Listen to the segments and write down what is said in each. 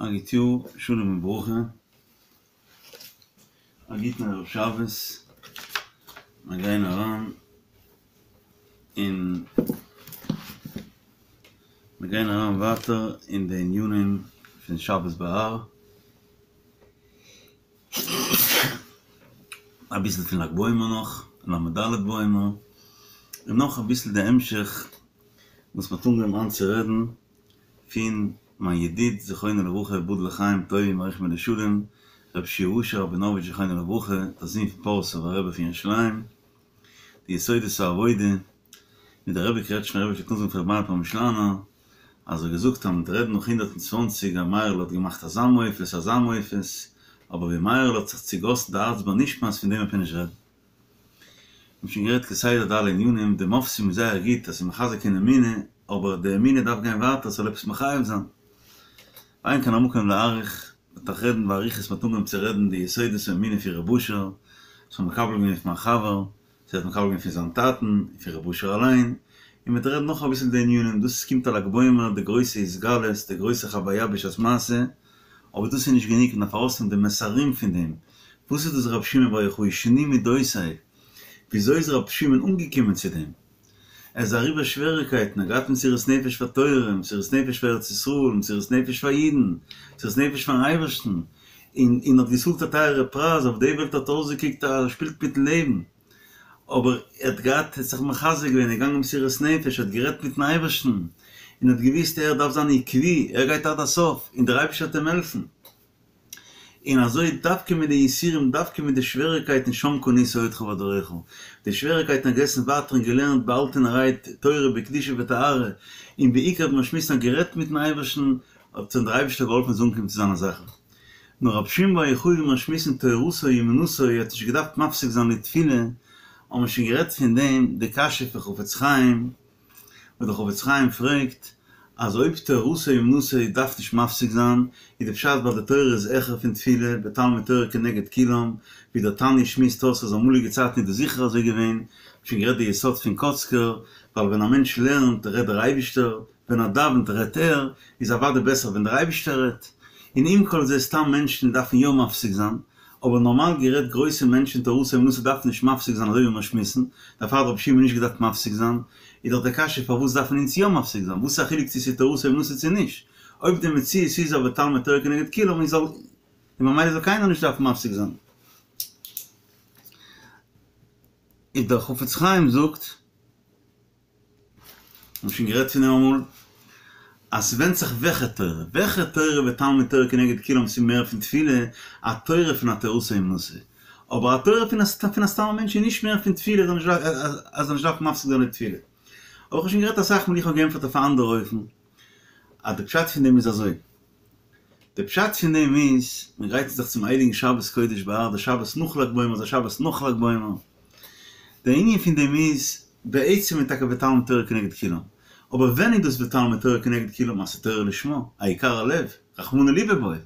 א גוט יאר, שלום וברכה, א גוטן ערב שבת, מיר גייען אריין אין, מיר גייען אריין ווייטער אין די ענינים פון שבת בהר, אביסל פון לג בעומר נאך, ל"ד בעומר, און נאך אביסל די המשך וואס מ'האט אנגעהויבן היינט צו רעדן פון מיין ידיד זכרונו לברכה יבדל לחיים טובים ויאריך ימים לשלום רבי שיע אשר ראבינאוויטש זכרונו לברכה דער זון פון פאריסאווער רבי פון ירושלים די יסודות העבודה ווי דער רבי קרעטשנער רבי פלעגט אנזאגן פאר רבי מאיר פרעמישלאנער אז ער האט געזאגט אז מ'וועט רעדן נאך 120 אז מאיר'ל האט געמאכט אזא מופת אזא מופת אבער ווי מאיר'ל האט זיך צוגאסן די הארץ ביי נשמת פון דעם וועט מען נישט רעדן. מ'האט שוין גערעדט כסדר די אלע ענינים, די מופתים איז זייער גוט אז ס'איז מחזק אין אמונה, אבער די אמונה דארף גיין ווייטער ס'זאל עפעס מחייב זיין. ואין כאן המקום להאריך, מ'וועט נאך רעדן באריכות מ'האט אנגעהויבן צו רעדן די יסודות האמונה פון ר' אשר, וואס כ'האב מקבל געווען פון מיין חבר, וואס ער האט מקבל געווען פון זיין טאטן, און פון ר' אשר אליין, און מ'וועט רעדן נאך אביסל די ענינים, דאס קומט א ל"ג בעומר, די גרויסע התגלות, די גרויסע חוויה בשעת מעשה, אבער דאס איז נישט גענוג, מ'דארף ארויסנעמען די מסרים פון דעם, וואס איז דאס רבי שמעון בר יוחאי שנו מדותיו? וויאזוי איז רבי שמעון אנגעקומען צו דעם? ער איז אריבער שוועריקייטן, ער האט געהאט מסירות נפש פאר תורה, מסירות נפש פאר ארץ ישראל, מסירות נפש פאר אידן, מסירות נפש פארן אייבערשטן, און און האט געצאלט א טייערע פרייז, אויף די וועלט האט אויסגעקוקט אז ער שפילט מיטן לעבן, אבער ער האט געהאט, ער האט זיך מחזק געווען, ער איז געגאנגען מסירות נפש, ער האט גערעדט מיטן אייבערשטן, און האט געוואוסט ער דארף זיין עקבי, ער גייט עד הסוף, און דער אייבערשטער וועט אים העלפן. און אזוי דווקא מיט די יסורים, דווקא מיט די שוועריקייטן שם קנית אוהדך ודברך, די שוועריקייטן האט געזעסן ווייטער און געלערנט באהאלטענערהייט תורה בקדושה וטהרה, און בעיקר ווי מיר שמועסן האט גערעדט מיטן אייבערשטן, האט אים דער אייבערשטער געהאלפן זאל אנקומען צו זיינע זאכן. נאר רבי שמעון בר יוחאי ווי מיר שמועסן תורתו אומנותו ער האט נישט געדארפט מפסיק זיין לתפילה, האבן מיר שוין גערעדט פון דעם די קשיא פון חפץ חיים, וואס דער חפץ חיים פרעגט אז אויב תורתו אומנותו דארף נישט מפסיק זיין, איז די פשט ווייל די תורה איז העכער פון תפילה, ותלמוד תורה כנגד כולם, ווי דער תניא שמועסט אויס אז אמאליגע צייטן איז דאס זיכער אזוי געווען, שוין גערעדט די יסוד פון קאצקער, ווייל ווען א מענטש לערנט רעדט דער אייבישטער, ווען ער דאווענט רעדט ער, איז אוודאי בעסער ווען דער אייבישטער רעדט. און עם כל זה סתם מענטשן דארפן יא מפסיק זיין, אבער נארמאל גערעדט גרויסע מענטשן תורתו אומנותו דארפן נישט מפסיק זיין אזוי ווי מיר שמועסן, דערפאר האט רבי שמעון נישט געדארפט מפסיק זיין, איז דאך די קשיא פארוואס דארפן אונז יא מפסיק זיין, וואס איז א חילוק צו ס'איז תורתו אומנותו צו נישט, אויב די מציאות איז אז ותלמוד תורה כנגד כולם איז זאל און ממילא זאל קיינער נישט דארפן מפסיק זיין. איז דער חפץ חיים זאגט. מ'האט שוין גערעדט פון דעם אמאל, אז ס'ווענדט זיך וועלכע תורה, וועלכע תורה ותלמוד תורה כנגד כולם ס'איז מער פון תפילה, א תורה פון א תורתו אומנותו, אבער א תורה פון א פון א סתם א מענטש איז נישט מער פון תפילה אז ער זאל נישט דארפן מפסיק זיין לתפילה. אבער איך האב שוין גערעדט אסאך מאל איך האב געענטפערט אויף א אנדערע אופן, אז די פשט פון דעם איז אזוי, די פשט פון דעם איז, מען גרייט זיך צום הייליגן שבת קודש בהר, די שבת נאך ל"ג בעומר איז א שבת נאך ל"ג בעומר, דער ענין פון דעם איז, בעצם איז טאקע ותלמוד תורה כנגד כולם, אבער ווען איז דאס ותלמוד תורה כנגד כולם אז ס'איז תורה לשמה, העיקר הלב, רחמנא ליבא בעי,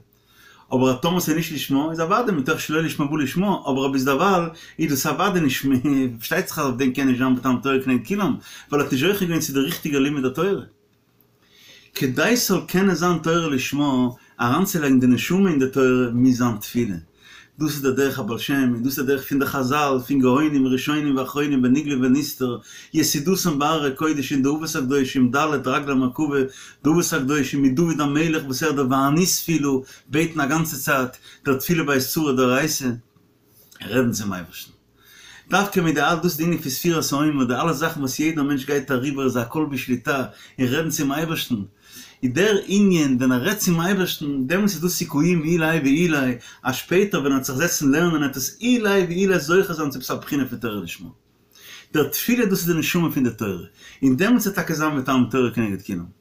אבער אז טאמער ס'איז נישט לשמה איז אוודאי מתוך שלא לשמה בא לשמה, אבער ביזדערווייל איז דאס אוודאי נישט, פארשטייט זיך אז אויף דעם קען נישט זיין ותלמוד תורה כנגד כולם, ווייל ער האט נישט זוכה געווען צו די ריכטיגע לימוד התורה. כדי ס'זאל קענען זיין תורה לשמה, אריינצולייגן די נשמה אין די תורה, מוז זיין תפילה. דאס איז דער דרך הבעל שם, און דאס איז דער דרך פון די חז"ל, פון גאונים ראשונים ואחרונים בנגלה ובנסתר, יסודתן בהררי קודש אין די אבות הקדושים, ד' רגלי מרכבה, די אבות הקדושים, מדוד המלך וואס ער דער ואני תפילה, בעטן א גאנצע צייט, דער תפילה בעת צרה דאורייתא, רעדן צום אייבערשטן. דווקא מיט די אלע, דאס איז די ענין פון ספירת העומר, די אלע זאכן וואס יעדער מענטש גייט אריבער איז הכל בשליטה, און רעדן צום אייבערשטן, איז דער ענין ווען ער רעדט צום אייבערשטן, דעמאלטס איז דא סיכויים אולי ואולי, אז שפעטער ווען ער וועט זיך זעצן לערנען וועט עס אולי ואולי זוכה זיין צו עפעס א בחינה פון תורה לשמה. דער תפילה דאס איז די נשמה פון די תורה, און דעמאלטס וועט טאקע זיין ותלמוד תורה כנגד כולם.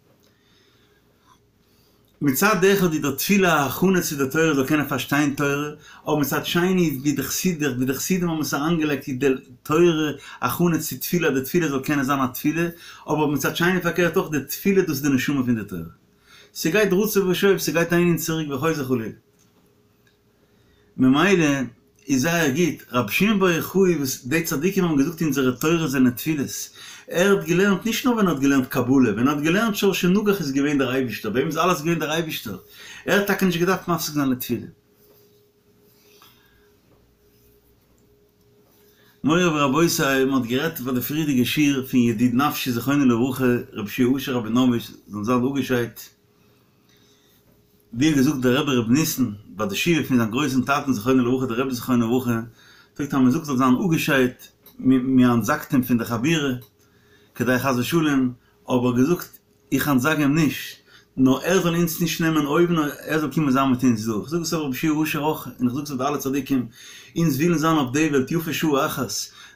מצד אחד איז דער תפילה א הכנה צו די תורה זאל קענען פארשטיין תורה, אבער מצד שני ווי די חסידים ווי די חסידים האבן עס אריינגעלייגט איז די תורה הכנה צו תפילה אז די תפילה זאל קענען זיין א תפילה, אבער מצד שני פארקערט אויך די תפילה דאס איז די נשמה פון די תורה. ס'גייט רצוא ושוב, ס'גייט אהין און צוריק וחוזר חלילה. ממילא איז זייער גוט, רבי שמעון בר יוחאי וואס די צדיקים האבן געזאגט אונזערע תורות זענען תפילות, ער האט געלערנט נישט נאר ווען ער האט געלערנט קבלה, ווען ער האט געלערנט שור שנגח איז געווען דער אייבישטער, ביי אים איז אלעס געווען דער אייבישטער, ער ער האט טאקע נישט געדארפט מפסיק זיין לתפילה. מורי ורבותי, מען האט גערעדט ביי די פריערדיגע שיעור פון ידיד נפשי זכרונו לברכה רבי שיע אשר ראבינאוויטש זאל זיין אפגעשיידט, ווי האט געזאגט דער רבי רבי ניסן ביי די שבעה פון זיין גרויסן טאטן זכרונו לברכה דער רבי זכרונו לברכה זאגט אז מען זאגט זאל זיין אפגעשיידט מען אנטזאגט אים פון די חבורה כדי חס ושלום אבער געזאגט איך אנטזאג אים נישט, נאר ער זאל אונז נישט נעמען אויבן, נאר ער זאל קומען זיין מיט אונז דא. איך זאג עס אויף רבי שיע אשר אויך, און איך זאג עס אויף די אלע צדיקים, אונז ווילן זיין אויף די וועלט יפה שעה אחת,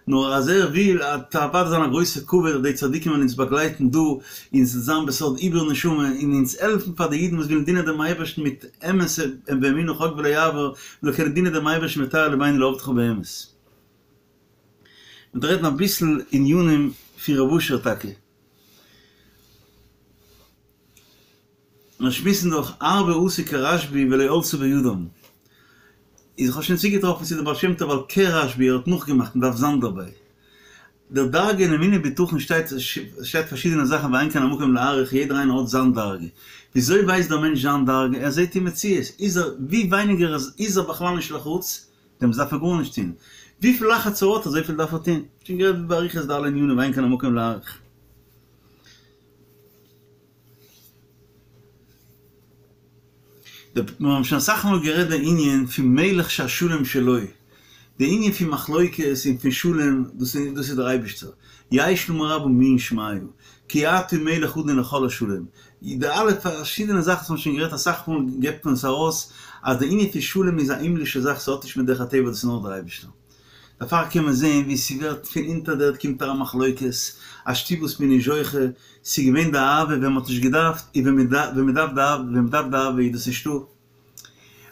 נאר אז ער וויל, וועט אוודאי זיין א גרויסע כבוד אז די צדיקים וועלן אונז באגלייטן דא, אונז זיין בסוד עיבור נשמה, און אונז העלפן פאר די אידן וואס ווילן דינען דעם אייבערשטן מיט אמת באמונה חוק ולא יעבור, מ'זאל קענען דינען דעם אייבערשטן וטהר לבנו לעבדך באמת. מ'וועט רעדן אביסל ענינים פון רב אשר טאקע. מיר שמועסן דאך הרבה עשו כרשב"י ולא עלתה בידם. איז איך האב שוין צוגעטראפן צו די בעל שם טוב ווייל כרשב"י ער האט נאכגעמאכט מען דארף זיין דערביי. די דרגה אין אמונה בטחון שטייט שטייט פארשידענע זאכן ואין כאן המקום להאריך יעדער איינער האט זיין דרגה. וויאזוי ווייסט דער מענטש זיין דרגה? ער זעט אין מציאות. איז ער ווי ווייניגער איז ער בכלל נישט לחוץ דעמאלטס דארף ער גארנישט טון. וויפיל לחץ ער האט אזויפיל דארף ער טון. שוין גערעדט באריכות די אלע ענינים ואין כאן המקום להאריך. מיר האבן שוין אסאך מאל גערעדט די ענין פון מלך שהשלום שלו, די ענין פון מחלוקת און פון שלום, דאס איז דער אייבערשטער, יש נא רבה מי ישמעו, כי אתה מלך אדון לכל השלום, די אלע פארשידענע זאכן וואס מ'האט שוין גערעדט אסאך מאל געבט מען עס ארויס אז די ענין פון שלום איז א הימלישע זאך ס'האט נישט מיט דרך הטבע דאס איז נאר דער אייבערשטער. דערפאר קען מען זעהן ווי ס'ווערט פון אונטער דער ערד קומט אריין מחלוקת, א שטוב וואס מ'איז נישט זוכה, ס'איז געווען די אהבה ווען מ'האט נישט געדארפט און ווען מ'דארף די אהבה ווען מ'דארף די אהבה איז דאס נישטא.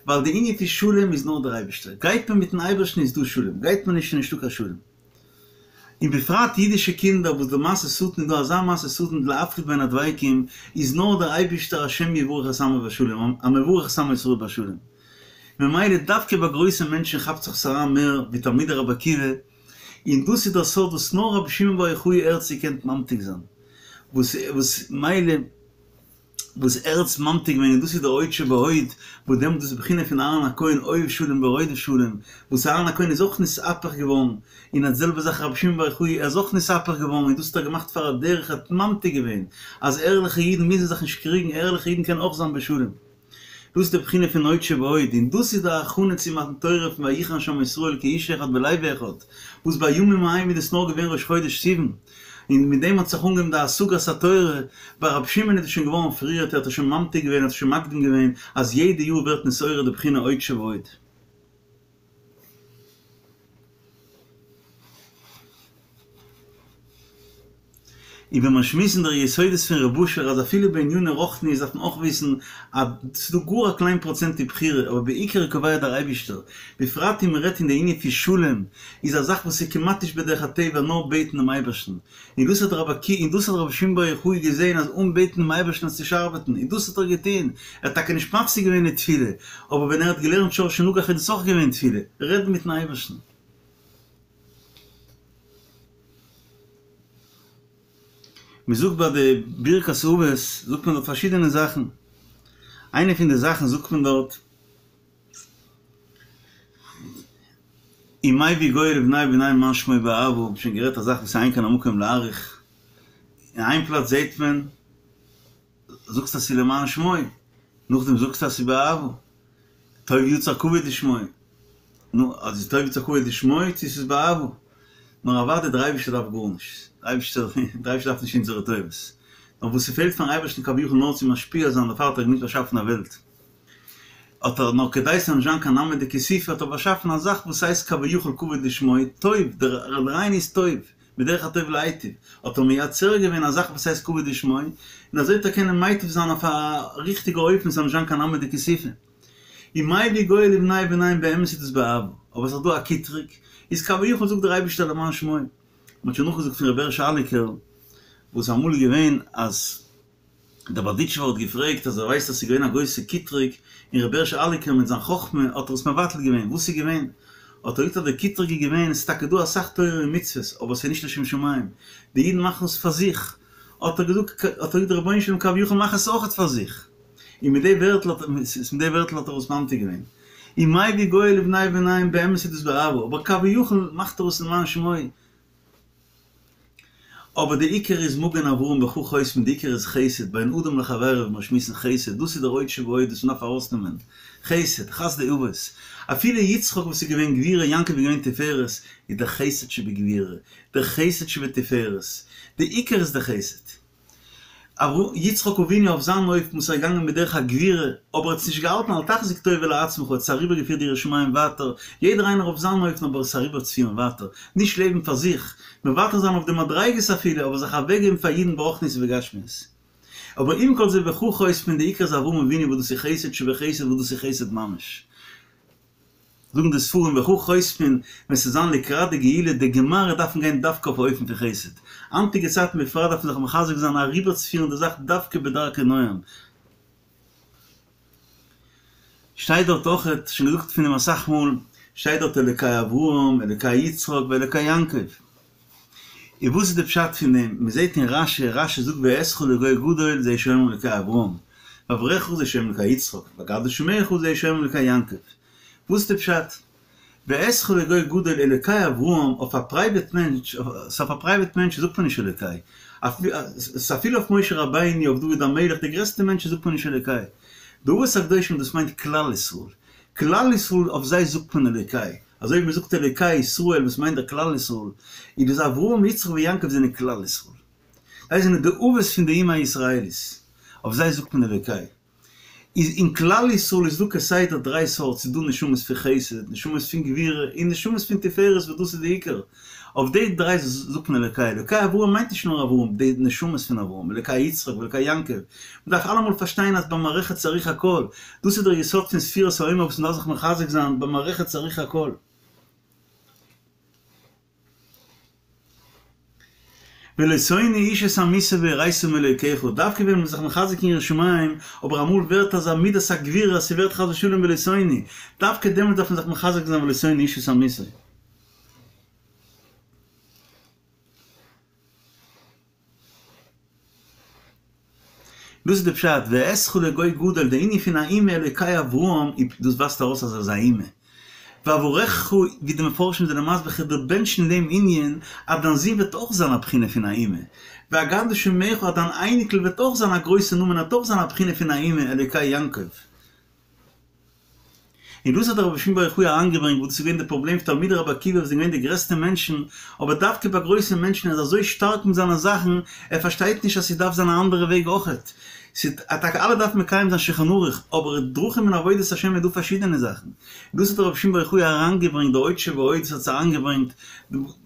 ווייל די ענין פון שלום איז נאר דער אייבערשטער, גייט מען מיטן אייבערשטן איז דא שלום, גייט מען נישט איז נישטא קיין שלום. און בפרט אידישע קינדער וואס די מעשה שטן איז דא אזא מעשה שטן להפריד בין הדבקים איז נאר דער אייבישטער השם יברך את עמו בשלום המברך את עמו ישראל בשלום ממילא דווקא ביי גרויסע מענטשן כאפט זיך עס אריין מער ווי תלמידי רבי עקיבא און דאס איז דער סוד וואס נאר רבי שמעון בר יוחאי ער האט עס געקענט ממתיק זיין וואס וואס מילא וואס ער האט עס ממתיק געווען און דאס איז דער הוד שבהוד, וואס דעמאלט איז בחינה פון אהרן הכהן אוהב שלום ורודף שלום, וואס אהרן הכהן איז אויך נתהפך געווארן, און די זעלבע זאך רבי שמעון בר יוחאי ער איז אויך נתהפך געווארן און דאס האט ער געמאכט פאר א דרך ער האט ממתיק געווען אז ערליכע אידן מוזן זיך נישט קריגן ערליכע אידן קענען אויך זיין בשלום. דאס איז די בחינה פון הוד שבהוד, און דאס איז די הכנה צו מתן תורה פון ויחן שם ישראל כאיש אחד בלב אחד, וואס בימים ההם איז דאס נאר געווען ראש חודש סיוון, און מיט דעם האט זיך אנגעהויבן די השגת התורה, ביי רבי שמעון איז עס שוין געווארן פריער, ער האט עס שוין ממתיק געווען, ער האט עס שוין מקדים געווען, אז יעדע יאר ווערט נתעורר די בחינה הוד שבהוד. און ווען מיר שמועסן די יסודות פון רב אשר אז אפילו בעניני רוחניות דארף מען אויך וויסן אז ס'איז דא גאר א קליין פראצענט אין בחירה אבער בעיקר קובע דער אייבישטער, בפרט ווען מ'רעדט אין די ענין פון שלום איז א זאך וואס איז כמעט נישט בדרך הטבע נאר בעטן דעם אייבערשטן, און דאס האט רבי עקיבא און דאס האט רבי שמעון בר יוחאי געזען אז אן בעטן דעם אייבערשטן וועט עס נישט ארבעטן און דאס האט ער געטון, ער האט טאקע נישט מפסיק געווען די תפילה, אבער ווען ער האט געלערנט שור שנגח איז דאס אויך געווען תפילה, רעדן מיטן אייבערשטן. מען זאגט ביי די ברכת אבות זאגט מען דארט פארשידענע זאכן, איינע פון די זאכן זאגט מען דארט, ומביא גואל לבני בניהם למען שמו באהבה, האב שוין גערעדט א זאך וואס אין כאן המקום להאריך, אין איין פלאץ זעהט מען, זאגסט אז ס'איז למען שמו, נאכדעם זאגסטו אז ס'איז באהבה, טוב יצר כבוד לשמו, נו, אז איז טוב יצר כבוד לשמו צו ס'איז באהבה? נאר אוודאי דער אייבערשטער דארף גארנישט, דער אייבערשטער דער אייבערשטער דארף נישט אונזערע טובות, נאר וואס ס'פעלט פארן אייבערשטן כביכול נאר צו משפיע זיין דערפאר האט ער געמוזט באשאפן א וועלט, האט ער נאר כדי ס'זאל נישט זיין קיין נהמא דכיסופא האט ער באשאפן א זאך וואס הייסט כביכול כבוד לשמו, טוב, דער רעיון איז טוב, בדרך הטוב להיטיב, האט ער מייצר געווען א זאך וואס הייסט כבוד לשמו, און אזוי וועט ער קענען מייטיב זיין אויף א ריכטיגע אופן ס'זאל נישט זיין קיין נהמא דכיסופא. ומביא גואל לבני בניהם באמת איז דאס באהבה, אבער ס'איז דא א קיטרוג, איז כביכול זאגט דער אייבערשטער למען שמו. מ'האט שוין נאכגעזאגט פון רבי הערש אליקער וואס אמאל איז געווען אז דער בארדיטשובער האט געפרעגט אז ער ווייסט אז ס'איז געווען א גרויסע קיטרוג, און רבי הערש אליקער מיט זיין חכמה האט ער עס מבטל געווען, וואס איז געווען? האט ער געזאגט אז דער קיטרוג איז געווען, עס איז טאקע דא אסאך תורה און מצוות, אבער עס איז נישט לשם שמים, די אידן מאכן עס פאר זיך, האט ער געזאגט, האט ער געזאגט רבונו של עולם כביכול מאך עס אויכעט פאר זיך. און מיט די ווערטל האט מיט די ווערטל האט ער עס ממתיק געווען. און מביא גואל לבני בניהם באמת איז דאס באהבה, אבער כביכול מאכט ער עס למען שמו. אבער די עיקר איז מגן אברהם בך חותמין, די עיקר איז חסד, בין אדם לחבירו ווי מיר שמועסן חסד, דאס איז דער עוד שבעוד וואס מ'דארף ארויסנעמען, חסד, חסדי אבות, אפילו יצחק וואס איז געווען גבורה, יעקב איז געווען תפארת, איז דער חסד שבגבורה, דער חסד שבתפארת, די עיקר איז דער חסד. יצחק אבינו אויף זיין אופן וואס ער איז געגאנגען בדרך הגבורה, אבער ער האט עס נישט געהאלטן אל תחזיק טובה לעצמך, ער האט עס אריבערגעפירט די יראת שמים ווייטער, יעדער איינער אויף זיין אופן אבער עס אריבערצופירן ווייטער, נישט לעבן פאר זיך, מוותר זיין אויף די מדריגות אפילו, אבער זיך אוועקגעבן פאר אידן ברוחניות ובגשמיות. אבער עם כל זה בך חותמין די עיקר איז אברהם אבינו וואס דאס איז חסד שבחסד וואס דאס איז חסד ממש. זאגן די ספרים בך חותמין ווען ס'זאל זיין לקראת די גאולה די גמרא דארף מען גיין דווקא אויף אופן פון חסד, היינטיגע צייטן בפרט דארף מען זיך מחזק זיין אריבערצופירן די זאך דווקא בדרכי נועם. שטייט דארט אויכעט, שוין געזאגט פון דעם אסאך מאל, שטייט דארט אלוקי אברהם, אלוקי יצחק ואלוקי יעקב. און וואס איז די פשט פון דעם? מען זעט אין רשי, רשי זאגט ואעשך לגוי גדול זה שאומרים אלוקי אברהם, ואברכך זה שאומרים אלוקי יצחק, ואגדלה שמך זה שאומרים אלוקי יעקב. וואס איז די פשט? ואעשך לגוי גדול אלוקי אברהם אויף א פרייוועט מענטש, אויף א פרייוועט מענטש זאגט מען נישט אלוקי, אפילו אויף משה רבינו, אויף דוד המלך, די גרעסטע מענטשן זאגט מען נישט אלוקי. די אבות הקדושים דאס מיינט כלל ישראל, כלל ישראל אויף זיי זאגט מען אלוקי, אזוי ווי מען זאגט אלוקי ישראל וואס מיינט דער כלל ישראל, איז דאס אברהם יצחק ויעקב זענען כלל ישראל, זיי זענען די אבות פון די אומה הישראלית, אויף זיי זאגט מען אלוקי. איז אין כלל ישראל איז דא כסדר דריי סארט, ס'איז דא נשמות פון חסד, נשמות פון גבורה, און נשמות פון תפארת וואס דאס איז די עיקר. אויף די דריי זאגט מען אלוקי. אלוקי אברהם מיינט נישט נאר אברהם, די נשמות פון אברהם, אלוקי יצחק ואלוקי יעקב. מ'דארף אלעמאל פארשטיין אז במערכת צריך הכל. דאס איז דער יסוד פון ספירת העומר וואס מ'דארף זיך מחזק זיין, במערכת צריך הכל. ולא תונו איש את עמיתו ויראת מאלוקיך, דווקא ווען מ'איז זיך מחזק אין יראת שמים, אבער אמאל ווערט אזא מידת הגבורה אז ס'ווערט חס ושלום ולא תונו, דווקא דעמאלט דארף מען זיך מחזק זיין ולא תונו איש את עמיתו. דאס איז די פשט, ואעשך לגוי גדול, די ענין פון א אומה אלוקי אברהם, דאס ווייזט ארויס אז ער איז א אומה. ואברכך, ווי די מפרשים זענען מסביר כ'וועל דיר בענטשן אין דעם ענין, אז דיין זון וועט אויך זיין א בחינה פון א אומה. ואגדלה שמך, אז דיין אייניקל וועט אויך זיין א גרויסע נאמען, ער וועט אויך זיין א בחינה פון א אומה, אלוקי יעקב. און דאס האט דער רבי שמעון בר יוחאי אריינגעברענגט וואס דאס איז געווען די פראבלעם פון תלמידי רבי עקיבא וואס זענען געווען די גרעסטע מענטשן, אבער דווקא ביי גרויסע מענטשן ער איז אזוי שטארק מיט זיינע זאכן, ער פארשטייט נישט אז ס'דארף זיין א אנדערע וועג אויכעט. טאקע אלע דארפן מקיים זיין שולחן ערוך, אבער דרכים אין עבודת השם איז דא פארשידענע זאכן. און דאס האט דער רבי שמעון בר יוחאי אריינגעברענגט, דער עוד שבעוד וואס האט עס אריינגעברענגט,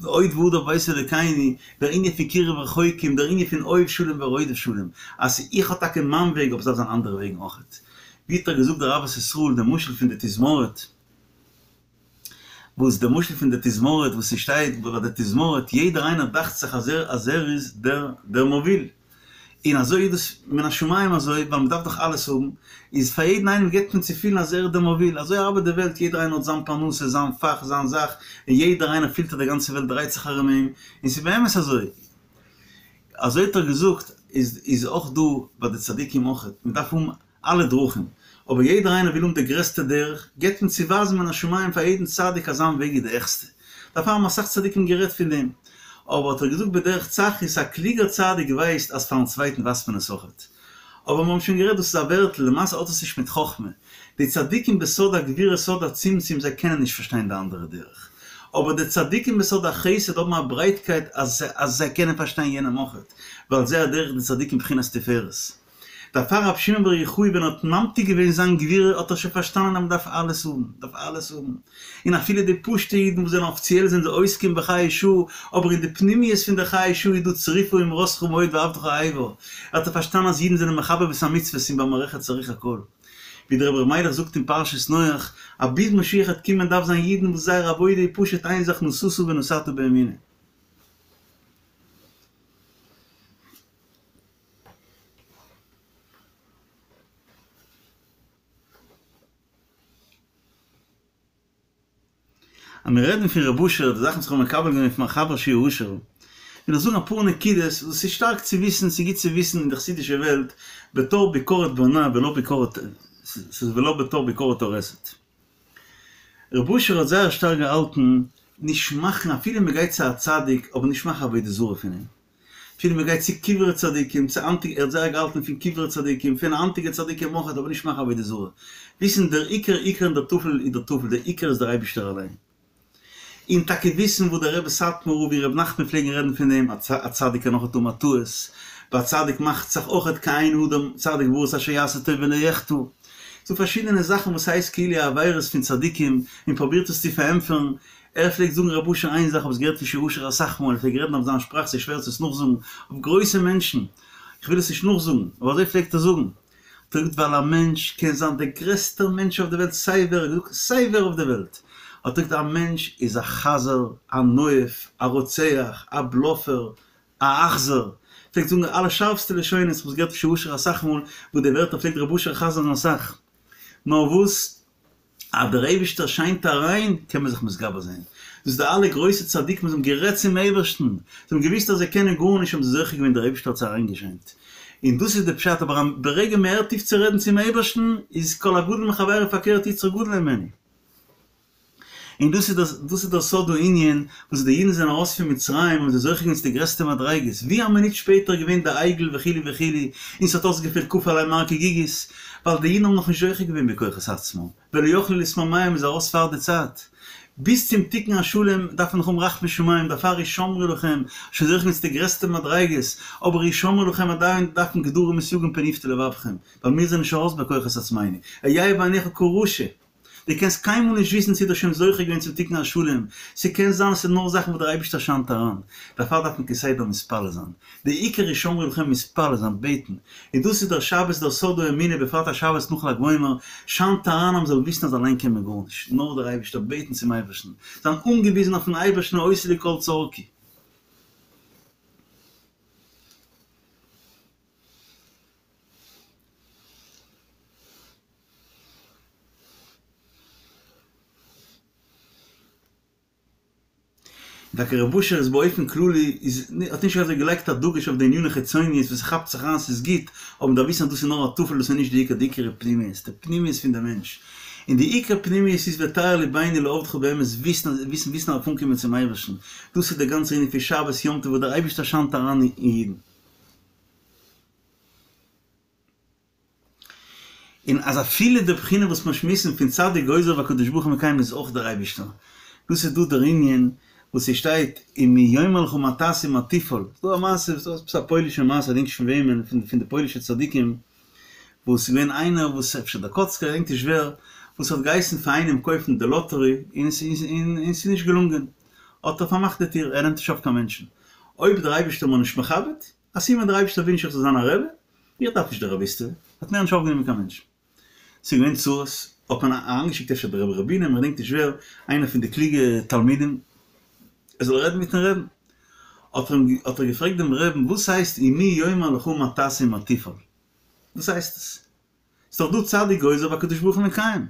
עוד והדר בבית אלוקינו, דער ענין פון קירוב רחוקים, דער ענין פון אוהב שלום ורודף שלום, אז איך האב טאקע מיין וועג אבער ס'דארף זיין אנדערע וועגן אויכעט. ווי האט ער געזאגט דער אהבת ישראל דער משל פון די תזמורת, וואס דער משל פון די תזמורת וואס ס'שטייט ביי די תזמורת יעדער איינער דאכט זיך אז ער אז ער איז דער דער מוביל, און אזוי איז דאס מן השמים אזוי ווייל מ'דארף דאך אלעס האבן, איז פאר יעדן איינעם געבט מען צו פילן אז ער איז דער מוביל, אזוי ארבעט די וועלט יעדער איינער האט זיין פרנסה זיין פאך זיין זאך, און יעדער איינער פילט אז די גאנצע וועלט דרייט זיך ארום אים, און ס'איז באמת אזוי. אזוי האט ער געזאגט איז איז אויך דא ביי די צדיקים אויך, מען דארף האבן אלע דרכים, אבער יעדער איינער וויל האבן די גרעסטע דרך, געבט מען צו ווייזן מן השמים פאר יעדן צדיק אז זיין וועג איז די העכסטע, דערפאר האבן אסאך צדיקים גערעדט פון דעם, אבער האט ער געזאגט בדרך צחות, א קלוגער צדיק ווייסט אז פארן צווייטן ווייזט מען עס אויכעט. אבער מיר האבן שוין גערעדט דאס איז א ווערטל, למעשה האט עס נישט מיט חכמה, די צדיקים בסוד הגבורה סוד הצמצום זיי קענען נישט פארשטיין די אנדערע דרך, אבער די צדיקים בסוד החסד האבן א ברייטקייט אז אז זיי קענען פארשטיין יענעם אויכעט, ועל זה הדרך די צדיקים בחינת תפארת. דערפאר רבי שמעון בר יוחאי ווען ער האט ממתיק געווען זיין גבורה האט ער שוין פארשטאנען אז מען דארף אלעס האבן, מען דארף אלעס האבן, און אפילו די פשוטע אידן וואס זענען אפיציעל זענען זיי עוסקים בחיי שעה, אבער אין די פנימיות פון די חיי שעה איז דא צריפה אמרתך מאוד ועבדך אהיבה, האט ער פארשטאנען אז אידן זענען מחבב את המצוות און במערכת צריך הכל. ווי דער רבי ר' מיילעך זאגט אין פרשת נח, אז ביז משיח העט קומען דארף זיין אידן וואס זייער עבודה איז פשוט איין זאך נשאת ונתת באמונה. אז מיר רעדן פון ר' אשר, די זאכן וואס איך האב מקבל געווען פון מיין חבר שי' אשר. וויל איך זאגן אפאר נקודות וואס איז שטארק צו וויסן, ס'איז גוט צו וויסן אין די חסידישע וועלט, בתור ביקורת בונה ולא ביקורת, ס'איז ולא בתור ביקורת הורסת. ר' אשר האט זייער שטארק געהאלטן נישט מאכן אפילו מ'גייט צו א צדיק אבער נישט מאכן עבודה זרה פון אים. אפילו מען גייט צו קברי צדיקים, צו היינטיגע, ער האט זייער געהאלטן פון קברי צדיקים, פון היינטיגע צדיקים אויך, אבער נישט מאכן עבודה זרה. וויסן דער עיקר עיקר און דער טפל איז דער טפל, דער עיקר איז דער אייבישטער אליין. און טאקע וויסן וואס דער רבי סאטמאר רב און רבי נחמן פלעגן רעדן פון דעם, א צדיק קען אויך האבן א טעות, ביי א צדיק מאכט זיך אויך כי אין אדם צדיק בארץ אשר יעשה טוב ולא יחטא. ס'דא פארשידענע זאכן וואס הייסט כאילו עבירות פון צדיקים, און פרובירט עס צו פארענטפערן, ער פלעגט זאגן רב אשר איין זאך האב עס געהערט פון ר' אשר אסאך מאל ער פלעגט רעדן אויף זיין שפראך ס'איז שווער צו עס נאכזאגן אויף גרויסע מענטשן איך וויל עס נישט נאכזאגן אבער אזוי פלעגט ער זאגן האט ער געזאגט ווייל א מענטש קען זיין דער גרעסטער מענטש אויף די וועלט סיי ווער האט געזאגט סיי ווער אויף די וועלט האט ער געזאגט א מענטש איז א חזר א נואף א רוצח א בלאפער א אכזר פלעגט זאגן אלע שארפסטע לשונות איך האב עס געהערט פון ר' אשר אסאך מאל וואס די ווערטער פלעגט רב אשר חזר'ן אסאך נאר וואס אז דער אייבישטער שיינט אריין קען מען זיך מתגבר זיין. דאס איז די אלע גרויסע צדיקים וואס האבן גערעדט צום אייבערשטן, זיי האבן געוואוסט אז זיי קענען גארנישט האבן זיי זוכה געווען דער אייבישטער האט זיי אריינגעשיינט. און דאס איז די פשט, אבער ברגע מען הערט אויף צו רעדן צום אייבערשטן איז כל הגדול מחבירו פארקערט יצרו גדול הימנו. און דאס איז דאס איז דער סוד הענין וואס די אידן זענען ארויס פון מצרים האבן זיי זוכה געווען צו די גרעסטע מדריגות, ווי א מינוט שפעטער איז געווען די עגל וכו' וכו', און ס'האט אויסגעפעלט כפה עליהם הר כגיגית, ווייל די אידן האבן נאכנישט זוכה געווען בכוחות עצמם, ולא יכלו להתמהמה מ'איז ארויס פאר די צייט. ביז צום תיקון השלם דארף מען נאך האבן רחמי שמים, דערפאר השמרו לכם, שוין זוכה געווען צו די גרעסטע מדריגות, אבער השמרו לכם עדיין דארף מען גדרים וסייגים פן יפתה לבבכם, ווייל מיר זענען נישט ארויס בכוחות עצמינו, היה בעיניך כרשע. דו קענסט קיינמאל נישט וויסן צו דו האסט שוין זוכה געווען צום תיקון השלם, ס'קען זיין ס'איז נאר זאכן וואס דער אייבערשטער שיינט אריין, דערפאר דארף מען כסדר מתפלל זיין, די עיקר השמרו לכם מתפלל זיין, בעטן, און דאס איז דער שבת דער סוד האמונה בפרט א שבת נאך ל"ג בעומר, שיינט אריין אז מ'זאל וויסן אז אליין קען מען גארנישט, נאר דער אייבערשטער, בעטן צום אייבערשטן, זיין אנגעוויזן אויפן אייבערשטן העושה לי כל צרכי. טאקע רב אשר איז באופן כללי איז האט נישט אזוי געלייגט א דגוש אויף די עניני חיצוניות וואס ס'כאפט זיך אריין ס'איז גוט אבער מ'דארף וויסן אז דאס איז נאר א טפל דאס איז נישט די עיקר די עיקר איז פנימיות די פנימיות פון די מענטש און די עיקר פנימיות איז וטהר לבנו לעבדך באמת וויסן וויסן וויסן אויף אנקומען צום אייבערשטן דאס איז די גאנצע ענין פון שבת יום טוב וואס דער אייבערשטער שיינט אריין אין אידן. און אז אפילו די בחינה וואס מיר שמועסן פון צדיק גוזר והקדוש ברוך הוא מקיים איז אויך דער אייבישטער. דאס איז דא דער ענין וואס ס'שטייט ומי יאמר לך מה תעשה ומה תפעל. ס'דא א מעשה, ס'איז עפעס א פוילישע מעשה, כ'דענק נישט פון וועמען, פון די פוילישע צדיקים, וואס ס'איז געווען איינער וואס, אפשר דער קאצקער, כ'דענק נישט ווער, וואס האט געהייסן פאר איינעם קויפן די לאטערי, און ס'איז נישט געלונגען. האט ער פארמאכט די טיר, ער נעמט נישט אויף קיין מענטשן. אויב דער אייבישטער מיר נישט מכבד, א סימן דער אייבישטער וויל נישט איך זאל זיין א רבי, איך דארף נישט די רביסטעווע, האט מער נישט אויפגענומען קיין מענטשן. ס'איז געווען צרות, האט מען אריינגעשיקט אפשר דער רבי ר' בונם, איך געדענק נישט ווער, איינער פון די קלוגע תלמידים, ער זאל רעדן מיטן רעבן. האט ער אים האט ער געפרעגט דעם רעבן, וואס הייסט ומי יאמר לך מה תעשה ומה תפעל? וואס הייסט עס? ס'איז דאך דא צדיק גוזר והקדוש ברוך הוא מקיים.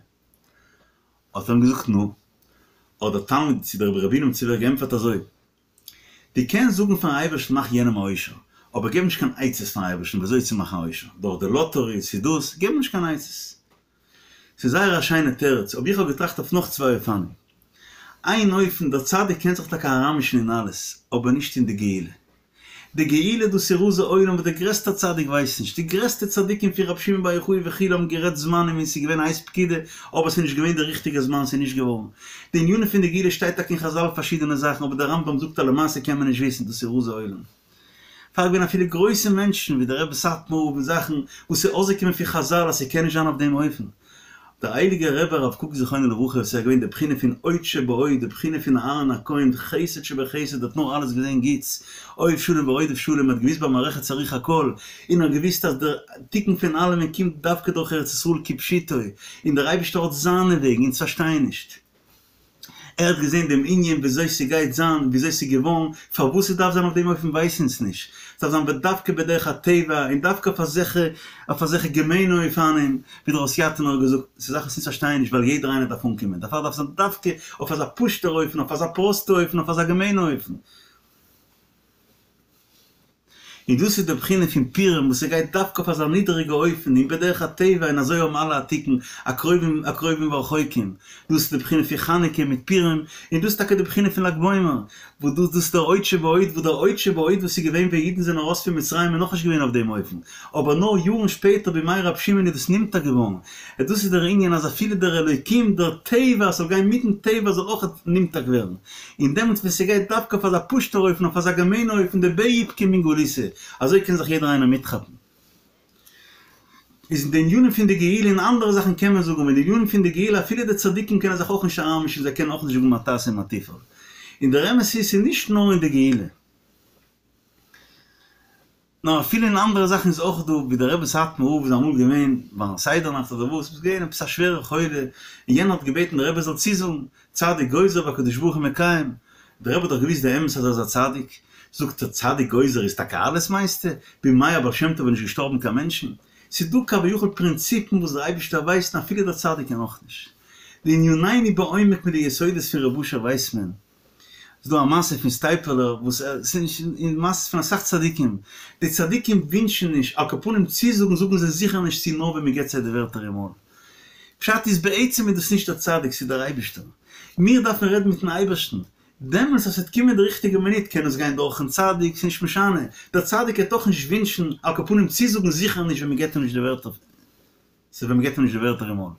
האט ער אים געזאגט נו. האט דער תלמיד צו דער רבי ר' בונם צו ווער געענטפערט אזוי, דו קענסט זאגן פארן אייבערשטן מאך יענעם א עושר, אבער געב נישט קיין עצות פארן אייבערשטן ווי אזוי צו מאכן א עושר, דורך די לאטערי צו דאס, געב נישט קיין עצות. ס'איז זייער א שיינע תירוץ, אבער איך האב געטראכט אויף נאך צוויי אופנים. איין אופן, דער צדיק קען זיך טאקע אריינמישן אין אלעס, אבער נישט אין די גאולה. די גאולה דאס איז רזי עולם וואס דער גרעסטער צדיק ווייסט נישט, די גרעסטע צדיקים פון רבי שמעון בר יוחאי וכו' האבן גערעדט זמנים און ס'איז געווען עת פקידה אבער ס'איז נישט געווען די ריכטיגע זמן ס'איז נישט געווארן. די ענינים פון די גאולה שטייט טאקע אין חזל פארשידענע זאכן אבער דער רמב"ם זאגט אז למעשה קען מען נישט וויסן דאס איז רזי עולם. פאר געווען אפילו גרויסע מענטשן ווי דער רבי סאטמאר רב און זאכן וואס איז אויסגעקומען פון חזל אז ס'קען נישט זיין אויף דעם אופן. דער הייליגער רבי הרב קוק זכרונו לברכה וואס איז געווען די בחינה פון הוד שבהוד, די בחינה פון אהרן הכהן, חסד שבחסד, האט נאר אלעס געזען גוטס, אוהב שלום ורודף שלום, האט געוויסט במערכת צריך הכל, און האט געוויסט אז דער תיקון פון אלעמען קומט דווקא דורך ארץ ישראל כפשוטו, און דער אייבערשטער האט זיינע וועגן, אונז פארשטייען נישט. ער האט געזען דעם ענין וויאזוי ס'גייט זיין, וויאזוי ס'איז געווארן, פארוואס ס'דארף זיין אויף דעם אופן ווייסן אונז נישט, ס'דארף זיין בדווקא בדרך הטבע, און דווקא אויף אזעלכע אויף אזעלכע געמיינע אופנים, ווי דער הוסיאטינער האט געזאגט, ס'איז זאכן וואס אונז פארשטייען נישט ווייל יעדער איינער דארף אנקומען, דערפאר דארף זיין דווקא אויף אזא פשוט'ער אופן, אויף אזא פראסטע אופן, אויף אזא געמיינע אופן. און דאס איז די בחינה פון פורים וואס ס'גייט דווקא אויף אזא נידעריגע אופן און בדרך הטבע און אזוי האבן אלע א תיקון, הקרובים הקרובים והרחוקים, דאס איז די בחינה פון חנוכה מיט פורים, און דאס איז טאקע די בחינה פון ל"ג בעומר, וואס דאס דאס איז דער עוד שבעוד וואס דער עוד שבעוד וואס איז געווען ווען אידן זענען ארויס פון מצרים איז נאכנישט געווען אויף דעם אופן, אבער נאר יארן שפעטער בימי רבי שמעון איז דאס נמתק געווארן, און דאס איז דער ענין אז אפילו דער אלוקים דער טבע זאל גיין מיטן טבע זאל אויך נמתק ווערן, און דעמאלטס ווען ס'גייט דווקא אויף אזא פשוט'ער אופן אויף אזא געמיינע אופן דבי איפכא מן גלותא, אזוי קען זיך יעדער איינער מיטכאפן. איז אין די ענינים פון די גאולה און אנדערע זאכן קען מען זאגן, אבער אין די ענינים פון די גאולה אפילו די צדיקים קענען זיך אויך נישט אריינמישן זיי קענען אויך נישט זאגן מה תעשה מה תפעל. און דער אמת איז ס'איז נישט נאר אין די גאולה. נאר אפילו אין אנדערע זאכן איז אויך דא, ווי דער רבי סאטמאר רב איז אמאל געווען ביים סדר נאכט אדער וואס, איז געווען עפעס א שווערע חולה, און יענער האט געבעטן דער רבי זאל צוזאגן, צדיק גוזר והקדוש ברוך הוא מקיים, דער רבי האט דאך געוואוסט די אמת אז ער איז א צדיק, זאגט ער, צדיק גוזר איז טאקע אלעס מיינסטו? בימי הבעל שם טוב איז נישט געשטארבן קיין מענטשן? ס'איז דא כביכול פרינציפן וואס דער אייבערשטער ווייסט און אפילו דער צדיק קען אויך נישט. לענינינו בעומק מיט די יסודות פון רב אשר ווייסט מען. ס'איז דא א מעשה פון סטייפלער וואס ער, ס'איז נישט, און מעשות פון אסאך צדיקים, די צדיקים ווינטשן נישט, על כל פנים צוזאגן זאגן זיי זיכער נישט צו נאר ווען מ'געט זיי די ווערטער אין מויל. פשט איז בעצם איז דאס נישט דער צדיק ס'איז דער אייבערשטער. מיר דארפן רעדן מיטן אייבערשטן, דעמאלטס אז ס'וועט קומען די ריכטיגע מינוט קען עס גיין דורכן צדיק, ס'איז נישט משנה, דער צדיק העט אויך נישט ווינטשן, על כל פנים צוזאגן זיכער נישט ווען מ'געט אים נישט די ווערטער. ס'איז ווען מ'געט אים נישט די ווערטער אין מויל.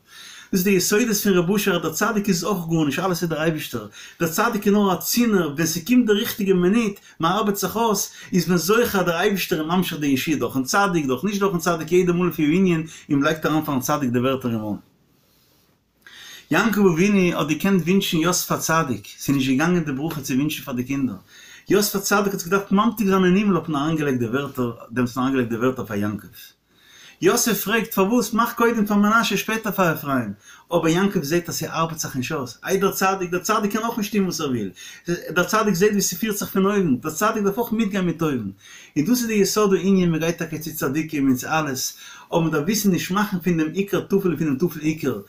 דאס איז די יסודות פון רב אשר אז דער צדיק איז אויך גארנישט, אלעס איז דער אייבישטער. דער צדיק איז נאר א צינור, ווען ס'קומט די ריכטיגע מינוט, מ'ארבעט זיך אויס, איז מען זוכה אז דער אייבישטער איז ממשיך די ישועה דורכ'ן צדיק, דורך נישט דורכ'ן צדיק, יעדע מאל לפי הענין, און מ'לייגט אריין פאר'ן צדיק די ווערטער אין מויל. יעקב אבינו האט געקענט ווינטשן יוסף הצדיק, ס'איז נישט געגאנגען די ברכה צו ווינטשן פאר די קינדער, יוסף הצדיק האט זיך געדארפט ממתיק זיין אין הימל האט מען אריינגעלייגט די ווערטער, דעמאלטס האט מען אריינגעלייגט די ווערטער פאר יעקב. יוסף פרעגט פארוואס מאך קודם פאר מנשה שפעטער פאר אפרים, אבער יעקב זעט אז ס'ארבעט זיך נישט אויס, איי דער צדיק, דער צדיק קען אויך נישט טון וואס ער וויל, דער צדיק זעט ווי ס'פירט זיך פון אויבן, דער צדיק דארף אויך מיטגיין מיט אויבן, און דאס איז די יסוד הענין, מען גייט טאקע צו צדיקים און צו אלעס, אבער מען דארף וויסן נישט מאכן פון דעם עיקר טפל און פון דעם טפל עיקר,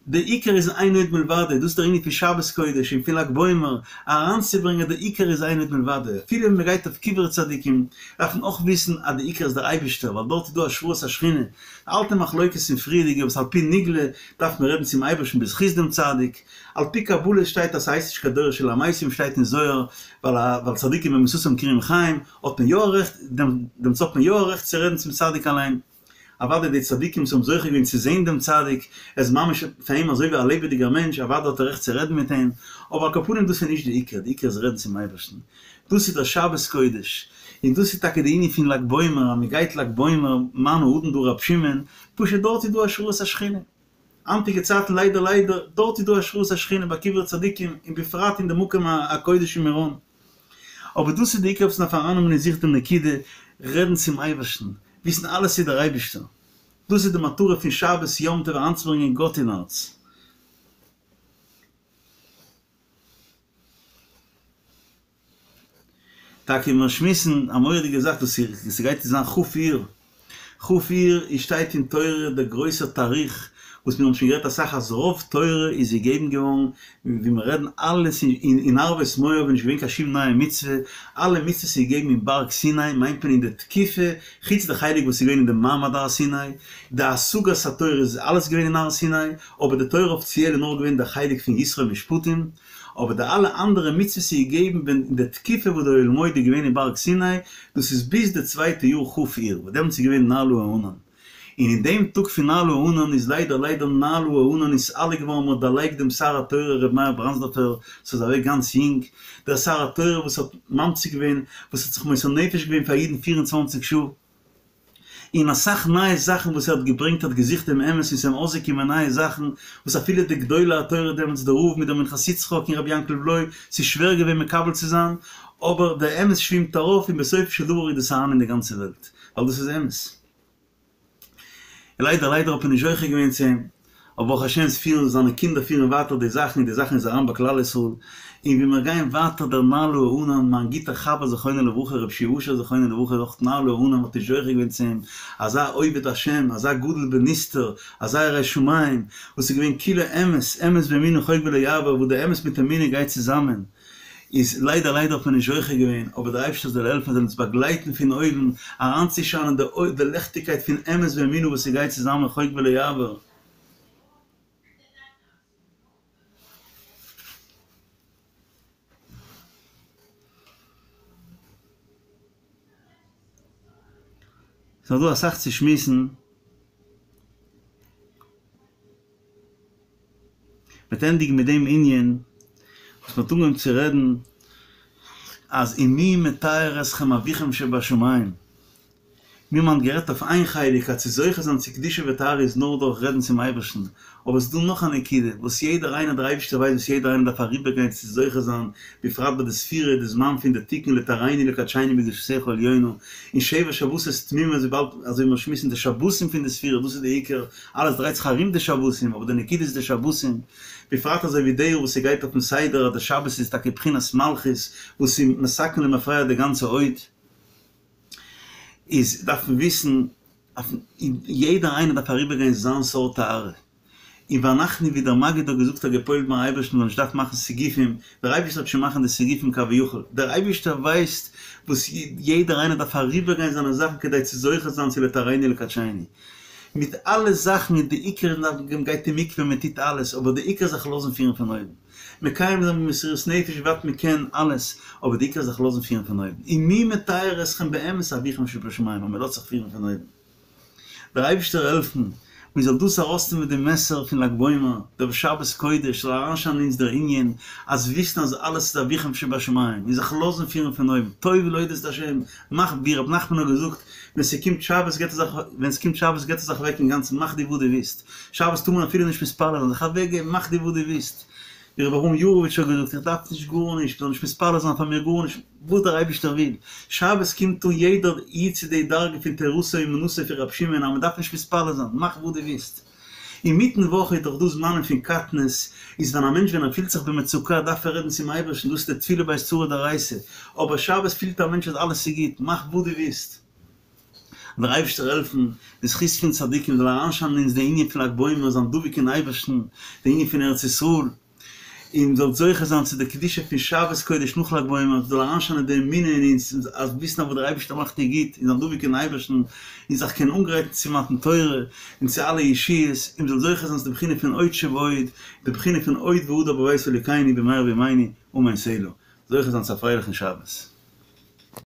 דער עיקר איז אין עוד מלבדו, דאס איז דער ענין פון שבת קודש און פון ל"ג בעומר, אריינצוברענגען דער עיקר איז אין עוד מלבדו, אפילו ווען מען גייט אויף קברי צדיקים, דארף מען אויך וויסן אז דער עיקר איז דער אייבערשטער, ווייל דארט איז דא השראת השכינה, די אלטע מחלוקת פון פריערדיגע וואס על פי נגלה דארף מען רעדן צום אייבערשטן בזכות דעם צדיק, על פי קבלה שטייט אז ס'הייסט נישט קיין דורש אל המתים שטייט אין זוהר, ווייל צדיקים במיתתם קרויים חיים, האט מען יא א רעכט, דעמאלטס האט מען יא א רעכט צו רעדן צום צדיק אליין. אוודאי די צדיקים וואס האבן זוכה געווען צו זען דעם צדיק, ער איז ממש פאר אים אזוי ווי א לעבעדיגער מענטש, אוודאי האט ער רעכט צו רעדן מיט אים, אבער על כל פנים דאס איז נישט די עיקר, די עיקר איז רעדן צום אייבערשטן. דאס איז דער שבת קודש, און דאס איז טאקע די ענין פון ל"ג בעומר, אז מען גייט ל"ג בעומר, מה האדון דא רב שמעון, פשוט דארט איז דא השראת השכינה. היינטיגע צייטן ליידער ליידער, דארט איז דא השראת השכינה ביי קברי צדיקים, און בפרט אין די מקום הקודש אין מירון. אבער דאס איז די עיקר וואס מ'דארף ארייננעמען אין זיך דעם נקודה, רעדן צום אייבערשטן, וויסן אלעס איז דער אייבערשטער. דאס איז די מטרה פון שבת יום טוב אריינצוברענגען גאט אין הארץ. טאקע מיר שמועסן א מורא'דיגע זאך דאס איז ס'גייט זיין כ' אייר, כ' אייר איז שטייט אין תורה דער גרויסער תאריך וואס מיר האבן שוין גערעדט אסאך אז רוב תורה איז געגעבן געווארן ווי מיר רעדן אלעס אין ערבות מואב איז נישט געווען קיין שום נייע מצוה, אלע מצוות איז געגעבן אין בארג סיני מיינט מען אין די תקופה חוץ די חלק וואס איז געווען אין די מעמד הר סיני, די השגת התורה איז אלעס געווען אין הר סיני, אבער די תורה אפיציעל איז נאר געווען די חלק פון יתרו משפטים. אבער די אלע אנדערע מצוות איז געגעבן ווען אין די תקופה וואס די אוהל מועד איז געווען אין בארג סיני, דאס איז ביז די צווייטע יאר כ' אייר, וואס דעמאלטס איז געווען נעלה הענן. און אין דעם טאג פון נעלה הענן איז ליידער ליידער נעלה הענן נסתלק געווארן, מ'האט דערלייגט דעם שר התורה ר' מאיר בראנדסדארפער, וואס איז אוועק גאנץ יונג, דער שר התורה וואס האט ממשיך געווען, וואס האט זיך מוסר נפש געווען פאר אידן פיר און צוואנציג שעה. און אסאך נייע זאכן וואס ער האט געברענגט האט געזוכט דעם אמת און ס'איז אים אויסגעקומען נייע זאכן וואס אפילו די גדולי התורה דעמאלטס די רב מיט דער מנחת יצחק און רבי יענקל בלוי ס'איז שווער געווען מקבל צו זיין אבער דער אמת שווימט ארויף און בסופו של דבר איז דאס אריין אין די גאנצע וועלט ווייל דאס איז אמת. און ליידער ליידער האט מען נישט זוכה געווען צו אים. אבער ברוך השם עס פירן זיינע קינדער פירן ווייטער די זאכן און די זאכן איז אריין ביי כלל ישראל, און ווי מיר גייען ווייטער דער נעלה הענן, מיין גוטער חבר זכרונו לברכה רבי שיע אשר זכרונו לברכה איז אויך נעלה הענן מ'האט נישט זוכה געווען צו אים, אזא עובד השם, אזא גדול בנסתר, אזא ירא שמים, וואס איז געווען כולו אמת, אמת ואמונה חוק ולא יעבור, וואס די אמת מיט אמונה גייט צוזאמען. איז ליידער ליידער האט מען נישט זוכה געווען, אבער דער אייבערשטער זאל העלפן זאל אונז באגלייטן פון אויבן, אריינצושיינען די די ליכטיגקייט פון אמת ואמונה וואס ס'גייט צוזאמען חוק ולא יעבור. ס'איז נאך דא אסאך צו שמועסן. מ'וועט ענדיגן מיט דעם ענין וואס מ'האט אנגעהויבן צו רעדן אז ומי מטהר אתכם אביכם שבשמים. מיר האבן גערעדט אויף איין חלק אז צו זוכה זיין צו קדושה וטהרה איז נאר דורך רעדן צום אייבערשטן, אבער ס'איז דא נאך א נקודה וואס יעדער איינער דער אייבערשטער ווייסט וואס יעדער איינער דארף אריבערגיין צו זוכה זיין, בפרט ביי די ספירה די זמן פון די תיקון לטהרנו לקדשנו בקדושתך העליונה, און שבע שבתות תמימות וויבאלד אזוי ווי מיר שמועסן די שבתים פון די ספירה דאס איז די עיקר, אלעס דרייט זיך ארום די שבתים אבער די נקודה איז די שבתים, בפרט אזוי ווי די יאר וואס ס'גייט אויפן סדר אז די שבת איז טאקע בחינת מלכות וואס איז מתקן למפרע די גאנצע הוד. איז דארף מען וויסן אז יעדער איינער דארף אריבערגיין זיין סארט טהרה, און ואנחנו ווי דער מגיד האט געזאגט האט געפועלט ביים אייבערשטן מ'זאל נישט דארפן מאכן סיגופים, דער אייבערשטער וועט שוין מאכן די סיגופים כביכול, דער אייבערשטער ווייסט וואס יעדער איינער דארף אריבערגיין זיינע זאכן כדי צו זוכה זיין צו לטהרנו ולקדשנו, מיט אלע זאכן און די עיקר איז מען גייט אין מקווה מען טוט אלעס, אבער די עיקר זיך לאזן פירן פון אויבן. מקיים זיין במסירות נפש ווי ווייט מען קען אלעס, אבער די עיקר זיך לאזן פירן פון אויבן, ומי מטהר אתכם באמת אביכם שבשמים, אז מען לאזט זיך פירן פון אויבן. דער אייבערשטער העלפן מען זאל דאס ארויסנעמען די מסר פון ל"ג בעומר, דער שבת קודש זאל אריינשיינען אין אונז דער ענין אז וויסן אז אלעס איז אביכם שבשמים, און זיך לאזן פירן פון אויבן, טוב להודות את השם, מאך ווי ר' נחמן האט געזאגט, ווען ס'קומט שבת געט ער זיך, ווען ס'קומט שבת געט ער זיך אוועק אינגאנצן, מאך דו וואס דו ווילסט. שבת טאר מען אפילו נישט מתפלל זיין, זיך אוועק געבן, מאך דו וואס דו ווילסט. ווי רבי אברהם יאראוויטש האט געזאגט, איך דארף נישט גארנישט, מ'זאל נישט מתפלל זיין פאר מיר גארנישט, וואס דער אייבערשטער וויל. שבת קומט אן יעדער איד צו די דרגה פון תורתו אומנותו פון רבי שמעון אז מ'דארף נישט מתפלל זיין, מאך וואס דו ווילסט. אינמיטן וואך איז דאך דא זמנים פון קטנות, איז ווען א מענטש ווען ער פילט זיך במצוקה דארף ער רעדן צום אייבערשטן, דאס איז די תפילה בעת צרה דאורייתא, אבער שבת פילט א מענטש אז אלעס איז גוט, מאך וואס דו ווילסט. דער אייבערשטער העלפן, די זכות פון צדיקים זאל אריינשיינען אין אונז די ענין פון ל"ג בעומר, זיין דבוק אין אייבערשטן, די ענין פון ארץ ישראל, און מ'זאל זוכה זיין צו די קדושה פון שבת קודש נאך ל"ג בעומר, זאל אריינשיינען די אמונה אין אונז, אז וויסן אז וואס דער אייבערשטער מאכט איז גוט, און זיין דבוק אין אייבערשטן, און זיך קענען אנגרייטן צו מתן תורה, און צו אלע ישועות, און מ'זאל זוכה זיין צו די בחינה פון עוד שבעוד, די בחינה פון עוד והדר בבית אלוקינו במהרה בימינו, אמן סלה. זוכה זיין צו א פרייליכן שבת.